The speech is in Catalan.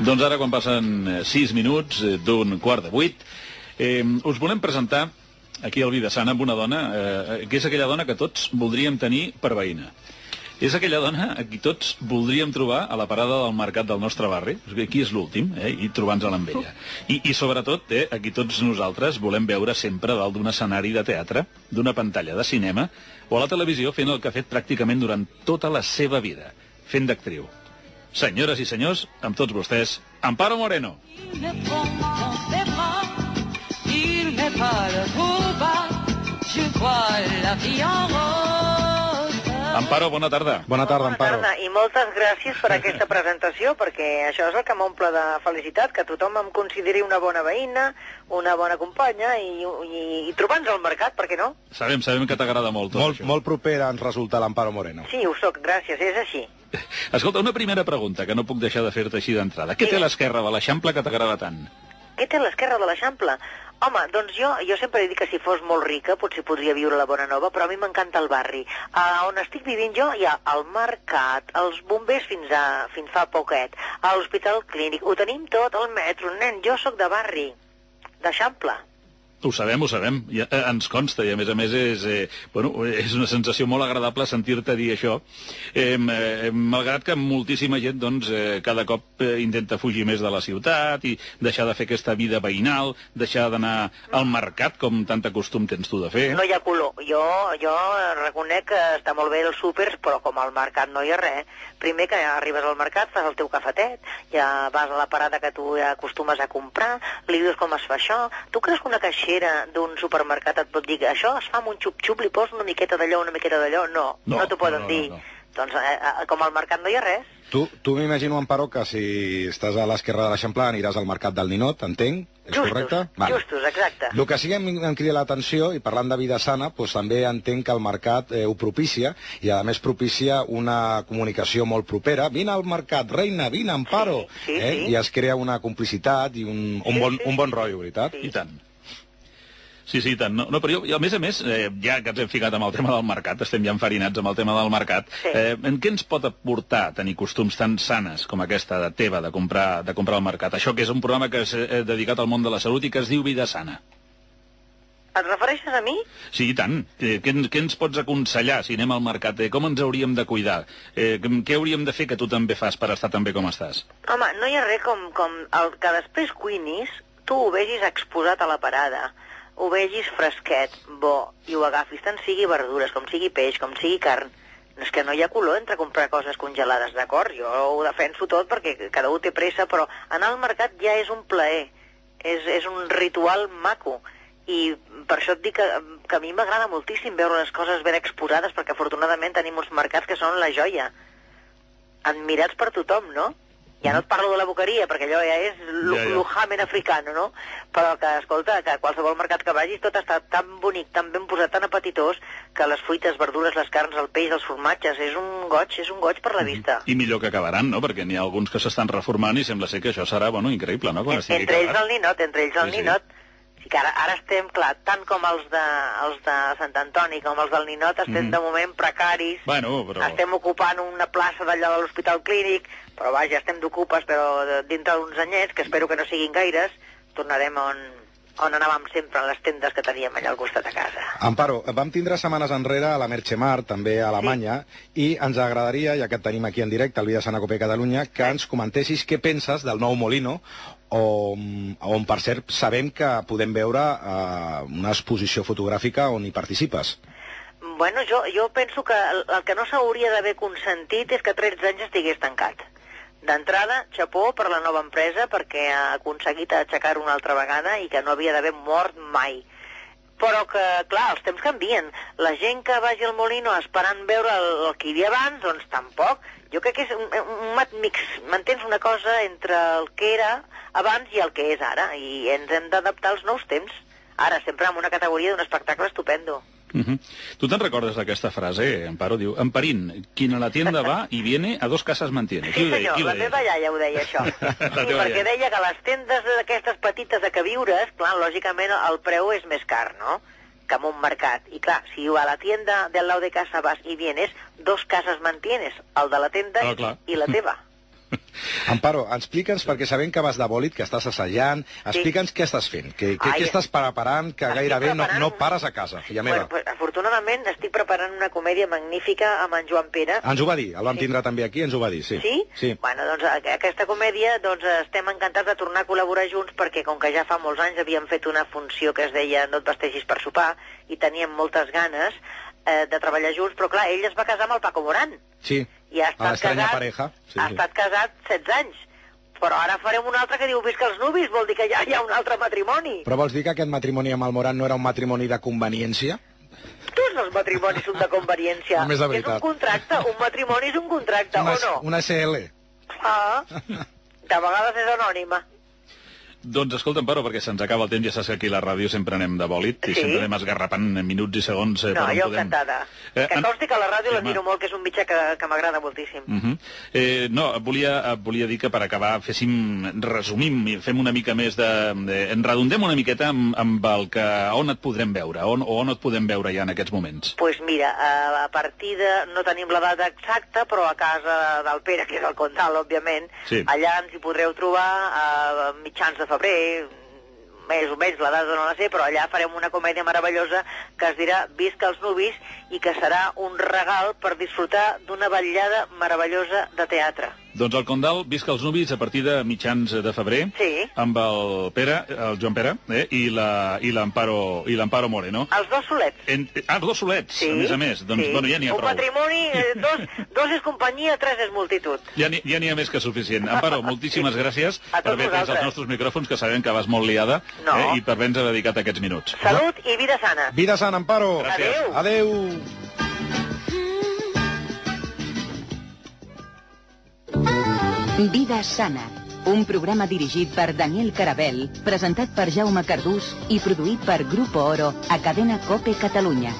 Doncs ara, quan passen 6 minuts d'un 7:15, us volem presentar aquí al Vida Sana amb una dona que és aquella dona que tots voldríem tenir per veïna. És aquella dona a qui tots voldríem trobar a la parada del mercat del nostre barri. Aquí és l'últim, i trobar-nos-la amb ella. I sobretot, a qui tots nosaltres volem veure sempre dalt d'un escenari de teatre, d'una pantalla de cinema, o a la televisió fent el que ha fet pràcticament durant tota la seva vida, fent d'actriu. Senyores i senyors, amb tots vostès, Amparo Moreno. Amparo, bona tarda. Bona tarda, Amparo. Bona tarda, i moltes gràcies per aquesta presentació, perquè això és el que m'omple de felicitat, que tothom em consideri una bona veïna, una bona companya, i trobar-nos al mercat, per què no? Sabem que t'agrada molt tot això. Molt propera ens resulta l'Amparo Moreno. Sí, ho soc, gràcies, és així. Escolta, una primera pregunta, que no puc deixar de fer-te així d'entrada. Què té l'esquerra de l'Eixample que t'agrada tant? Què té l'esquerra de l'Eixample? Home, doncs jo sempre he dit que si fos molt rica potser podria viure a la Bonanova, però a mi m'encanta el barri. On estic vivint jo hi ha el mercat, els bombers fins fa poquet, a l'hospital clínic, ho tenim tot, el metro, nen, jo sóc de barri, d'Eixample. Ho sabem, ens consta, i a més és una sensació molt agradable sentir-te dir això, malgrat que moltíssima gent cada cop intenta fugir més de la ciutat i deixar de fer aquesta vida veïnal, deixar d'anar al mercat, com tanta costum tens tu de fer. No hi ha color. Jo reconec que està molt bé els súpers, però com al mercat no hi ha res. Primer que arribes al mercat, fas el teu cafetet, ja vas a la parada que tu ja acostumes a comprar, li dius com es fa això. Tu creus que una caixera d'un supermercat et pot dir que això es fa amb un xup-xup, li posa una miqueta d'allò, una miqueta d'allò? No t'ho poden dir. Doncs com al mercat no hi ha res. Tu m'imagino, Amparo, que si estàs a l'esquerra de l'Eixample aniràs al mercat del Ninot, entenc? És correcte? Justos, exacte. El que sí que em crida l'atenció, i parlant de vida sana, doncs també entenc que el mercat ho propicia, i a més propicia una comunicació molt propera. Vine al mercat, reina, vine, Amparo! Sí. I es crea una complicitat i un bon rotllo, veritat? I tant. Sí, tant. No, però jo, a més, ja que ens hem ficat amb el tema del mercat, estem ja enfarinats amb el tema del mercat, en què ens pot aportar tenir costums tan sanes com aquesta teva de comprar al mercat? Això que és un programa que és dedicat al món de la salut i que es diu Vida Sana. Et refereixes a mi? Sí, i tant. Què ens pots aconsellar si anem al mercat? Com ens hauríem de cuidar? Què hauríem de fer que tu també fas per estar tan bé com estàs? Home, no hi ha res com el que després cuinis, tu ho vegis exposat a la parada, ho vegis fresquet, bo, i ho agafis, tant sigui verdures, com sigui peix, com sigui carn. És que no hi ha color entre comprar coses congelades, d'acord? Jo ho defenso tot perquè cada un té pressa, però anar al mercat ja és un plaer, és un ritual maco. I per això et dic que a mi m'agrada moltíssim veure les coses ben exposades, perquè afortunadament tenim uns mercats que són la joia, admirats per tothom, no? Ja no et parlo de la boqueria, perquè allò ja és l'ujamen africano, no? Però que, escolta, que a qualsevol mercat que vagis tot està tan bonic, tan ben posat, tan apetitós, que les fruites, verdures, les carns, el peix, els formatges, és un goig per la vista. I millor que acabaran, no? Perquè n'hi ha alguns que s'estan reformant i sembla ser que això serà, increïble, no? Entre ells el ninot. Sí que ara estem, clar, tant com els de Sant Antoni com els del Ninot, estem de moment precaris, estem ocupant una plaça d'allò de l'Hospital Clínic, però vaja, estem d'ocupes, però dintre d'uns anyets, que espero que no siguin gaires, tornarem on anàvem sempre, a les tendes que teníem allà al costat de casa. Amparo, vam tindre setmanes enrere a la Merchemart, també a Alemanya, i ens agradaria, ja que et tenim aquí en directe al Vida Sana Cope Catalunya, que ens comentessis què penses del nou Molino, on per cert sabem que podem veure una exposició fotogràfica on hi participes. Bueno, jo penso que el que no s'hauria d'haver consentit és que 13 anys estigués tancat. D'entrada, xapó per la nova empresa perquè ha aconseguit aixecar-ho una altra vegada i que no havia d'haver mort mai. Però que, clar, els temps canvien. La gent que vagi al Molino esperant veure el que hi havia abans, doncs tampoc. Jo crec que és un mat mix, m'entens, una cosa entre el que era abans i el que és ara, i ens hem d'adaptar als nous temps. Ara, sempre en una categoria d'un espectacle estupendo. Tu te'n recordes d'aquesta frase, Amparo? Diu, Amparín, quien a la tienda va y viene a 2 casas mantiene. Sí, senyor, la meva iaia ho deia, això. Sí, perquè deia que les tendes d'aquestes petites de queviures, clar, lògicament el preu és més car, no?, que en un mercat. I clar, si a la tienda del lado de casa vas y vienes, 2 casas mantienes, el de la tenda i la teva. Amparo, explica'ns, perquè sabem que vas de bòlit, que estàs assajant, explica'ns què estàs fent, què estàs preparant, que gairebé no pares a casa, filla meva. Bueno, afortunadament estic preparant una comèdia magnífica amb en Joan Pere. Ens ho va dir, el vam tindre també aquí, ens ho va dir, sí. Sí? Sí. Bueno, doncs aquesta comèdia estem encantats de tornar a col·laborar junts perquè com que ja fa molts anys havíem fet una funció que es deia No et vestegis per sopar i teníem moltes ganes de treballar junts, però clar, ell es va casar amb el Paco Morán. Sí, i ha estat casat 16 anys. Però ara farem un altre que diu Visca els nuvis, vol dir que ja hi ha un altre matrimoni. Però vols dir que aquest matrimoni amb el Morán no era un matrimoni de conveniència? Tots els matrimonis són de conveniència. Només de veritat. És un contracte, un matrimoni és un contracte, o no? Una SL. Ah, de vegades és anònima. Doncs escolta, Amparo, perquè se'ns acaba el temps, ja saps que aquí a la ràdio sempre anem de bòlit i sempre anem esgarrapant minuts i segons. No, jo encantada. Que consti que a la ràdio l'admiro molt, que és un mitjà que m'agrada moltíssim. No, volia dir que per acabar resumim i fem una mica més en redondem una miqueta amb el que on et podrem veure, on et podem veure ja en aquests moments. Doncs mira, a partir de... no tenim la data exacta, però a casa del Pere, que és el Condal, òbviament, allà ens hi podreu trobar a mitjans de febrer, més o menys, la data no la sé, però allà farem una comèdia meravellosa que es dirà Visca els nuvis i que serà un regal per disfrutar d'una vetllada meravellosa de teatre. Doncs el Condal, Visca els nuvis, a partir de mitjans de febrer, amb el Joan Pere, i l'Amparo Moreno. Els dos solets. Els dos solets, a més. Doncs, bueno, ja n'hi ha prou. Un matrimoni, dos és companyia, tres és multitud. Ja n'hi ha més que suficient. Amparo, moltíssimes gràcies per haver pres els nostres micròfons, que sabem que vas molt liada, i per haver-nos dedicat aquests minuts. Salut i vida sana. Vida sana, Amparo. Gràcies. Adéu. Vida sana, un programa dirigit per Daniel Carabel, presentat per Jaume Cardús i produït per Grupo Oro a Cadena COPE Catalunya.